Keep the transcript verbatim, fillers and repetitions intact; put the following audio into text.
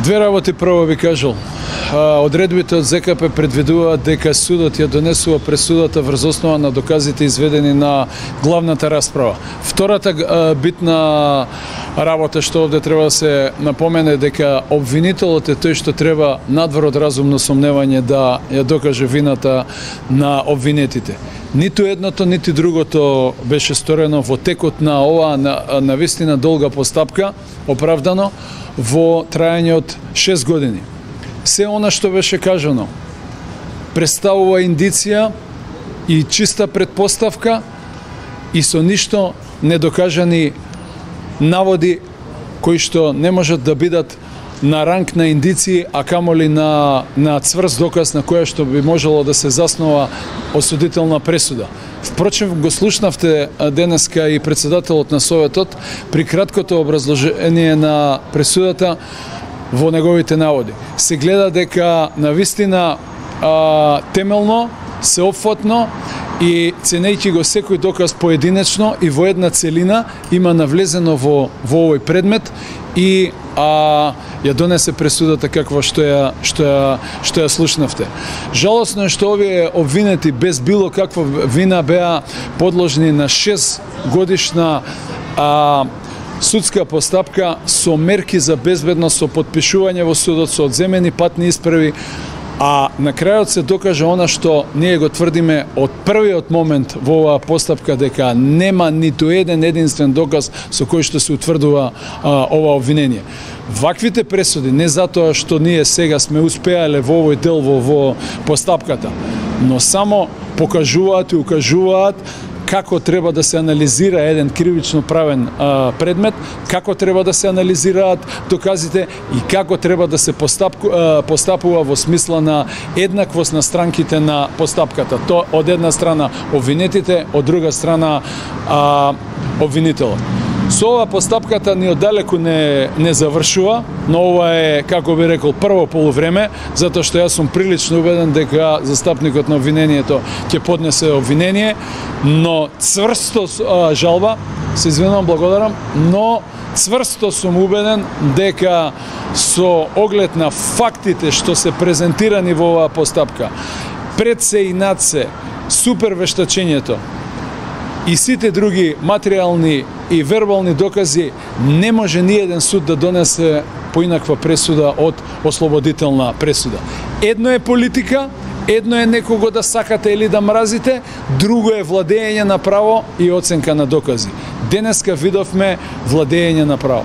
Две работи прво би кажал. Одредбите од ЗКП предвидуваат дека судот ја донесува пресудата врз основа на доказите изведени на главната расправа. Втората битна работа што овде треба да се напомене дека обвинителот е тој што треба надвор од разумно сомневање да ја докаже вината на обвинетите. Ниту едното, нити другото беше сторено во текот на оваа на, на вистина долга постапка, оправдано, во трајање од шест години. Се она што беше кажано представува индиција и чиста предпоставка и со ништо недокажани наводи кои што не можат да бидат на ранг на индиции, а камоли на, на цврст доказ на која што би можело да се заснова осудителна пресуда. Впрочем, го слушнавте денеска и председателот на Советот при краткото образложение на пресудата во неговите наводи. Се гледа дека навистина а, темелно, сеопфатно и ценејќи го секој доказ поединечно и во една целина има навлезено во, во овој предмет и а, ја донесе пресудата каква што ја, што ја, што ја слушнавте. Жалосно е што овие обвинети без било каква вина беа подложни на шест годишна а, судска постапка со мерки за безбедност, со подпишување во судот, со одземени патни исправи, а на крајот се докаже она што ние го тврдиме од првиот момент во оваа постапка, дека нема ниту еден единствен доказ со кој што се утврдува а, ова обвинение. Ваквите пресуди, не затоа што ние сега сме успеале во овој дел во, во постапката, но само покажуваат и укажуваат како треба да се анализира еден кривично правен а, предмет, како треба да се анализираат доказите и како треба да се постапку, а, постапува во смисла на еднаквост на странките на постапката. То од една страна обвинетите, од друга страна а, обвинителот. Со ова постапката ни оддалеку не, не завршува, но ова е, како би рекол, прво полувреме, затоа што јас сум прилично убеден дека застапникот на обвинението ќе поднесе обвинение, но цврсто а, жалба, се извинувам, благодарам, но цврсто сум убеден дека со оглед на фактите што се презентирани во оваа постапка, пред се и над се, супер вештачењето, и сите други материјални и вербални докази, не може ни еден суд да донесе поинаква пресуда од ослободителна пресуда. Едно е политика, едно е некого да сакате или да мразите, друго е владење на право и оценка на докази. Денеска видовме владење на право.